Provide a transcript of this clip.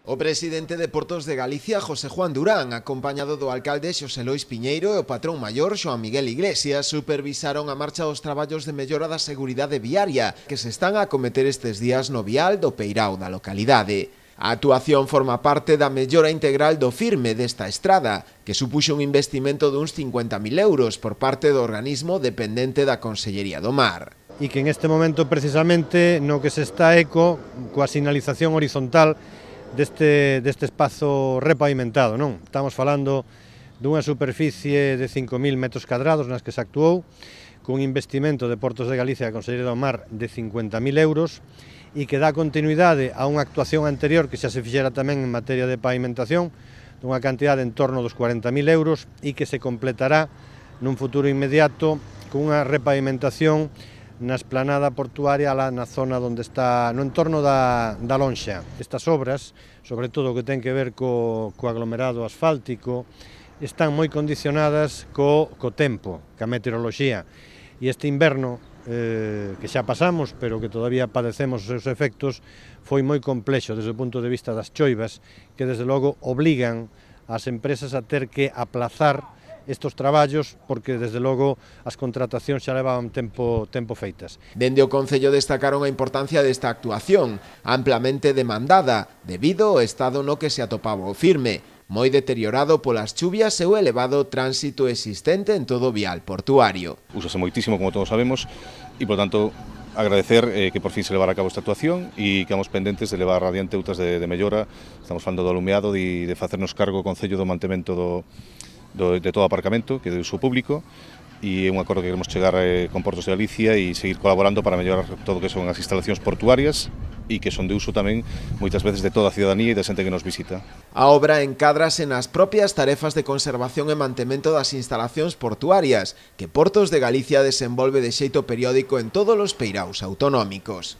O presidente de Portos de Galicia, José Juan Durán, acompañado do alcalde Xosé Lois Piñeiro e o patrón maior, Xoán Miguel Iglesias, supervisaron a marcha dos traballos de mellora da seguridade viaria que se están a acometer estes días no vial do Peirao da localidade. A actuación forma parte da mellora integral do firme desta estrada, que supuxo un investimento duns 50.000 euros por parte do organismo dependente da Consellería do Mar. E que en este momento precisamente no que se está coa sinalización horizontal deste espazo repavimentado, non? Estamos falando dunha superficie de 5.000 metros cadrados nas que se actuou, cun investimento de Portos de Galicia e a Consellería do Mar de 50.000 euros e que dá continuidade a unha actuación anterior que xa se fixera tamén en materia de pavimentación dunha cantidade en torno dos 40.000 euros e que se completará nun futuro inmediato cunha repavimentación na esplanada portuaria na zona onde está, no entorno da lonxa. Estas obras, sobre todo o que ten que ver co aglomerado asfáltico, están moi condicionadas co tempo, ca meteoroloxía. E este inverno, que xa pasamos, pero que todavía padecemos os seus efectos, foi moi complexo desde o punto de vista das choivas, que desde logo obligan as empresas a ter que aplazar estos traballos porque desde logo as contratacións xa levaban tempo feitas. Dende o Concello destacaron a importancia desta actuación, amplamente demandada, debido ao estado no que se atopaba o firme, moi deteriorado polas chuvias e o elevado tránsito existente en todo o vial portuario. Úsase moitísimo, como todos sabemos, e, por tanto, agradecer que por fin se levara a cabo esta actuación e quedamos pendentes de levar adiante outras de mellora. Estamos falando do alumeado e de facernos cargo o Concello do mantemento de todo o aparcamento, que é de uso público, e é un acordo que queremos chegar con Portos de Galicia e seguir colaborando para mellorar todo o que son as instalacións portuarias e que son de uso tamén moitas veces de toda a ciudadanía e da xente que nos visita. A obra encadrase nas propias tarefas de conservación e mantemento das instalacións portuarias que Portos de Galicia desenvolve de xeito periódico en todos os peiraos autonómicos.